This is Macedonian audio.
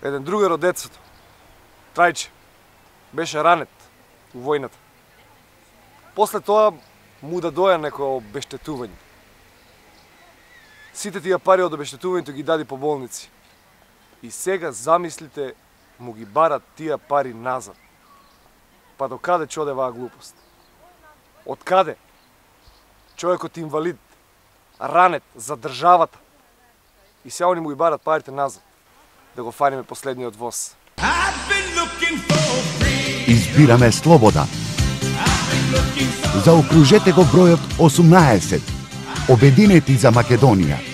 Еден другар од децото, Трајче, беше ранет у војната. После тоа му да доја некој обештетување. Сите тие пари од обештетувањето ги дади по болници. И сега замислите му ги барат тие пари назад. Па до каде ќе оде оваа глупост? Од каде? Човекот инвалид, ранет за државата. И сега они му ги барат парите назад. Да го фаниме последниот воз. Избираме слобода. Заокружете го бројот 18. Обединети за Македонија.